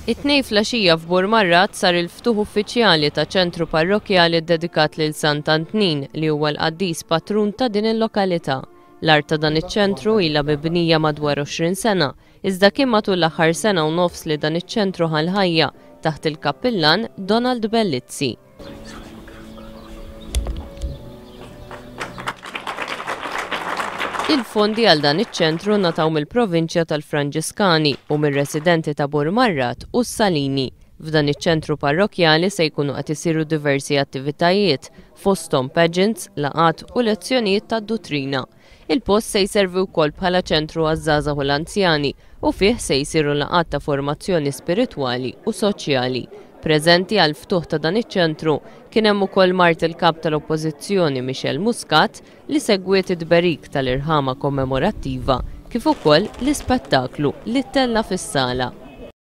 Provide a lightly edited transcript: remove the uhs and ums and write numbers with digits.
It-Tnejn flaxija f'Burmarrad sar il-ftuħ uffiċjali ta' ċentru parrokkjali ddedikat lil Sant'Antnin li huwa l-qaddis patrun ta' din il-lokalità. L-art ta' dan iċ-ċentru ilha mibnija madwar 20 sena, iżda kien matul l-aħħar sena u nofs li dan iċ-ċentru ħa l-ħajja taħt il-kappillan Donald Bellizzi. Il-fondi għal dan iċ-ċentru ngħataw mill-Provinċja tal-Franġiskani u mir-residenti ta' Burmarrad u s-Salini. F'dan iċ-ċentru parrokkjali se jkunu qed isiru diversi attivitajiet, fosthom pageants, laqgħat u lezzjonijiet tad-duttrina. Il-post se jservi wkoll bħala ċentru għaż-żgħażagħ u l-anzjani u fih se jsiru laqgħat ta' formazzjoni spiritwali u soċjali. Preżenti għall-ftuħ ta' dan iċ-ċentru kien hemm ukoll mart il-Kap tal-Oppożizzjoni Michelle Muscat li segwiet it-tberik tal-irħama kommemorattiva kif ukoll l-ispettaklu li ttella' fis-sala.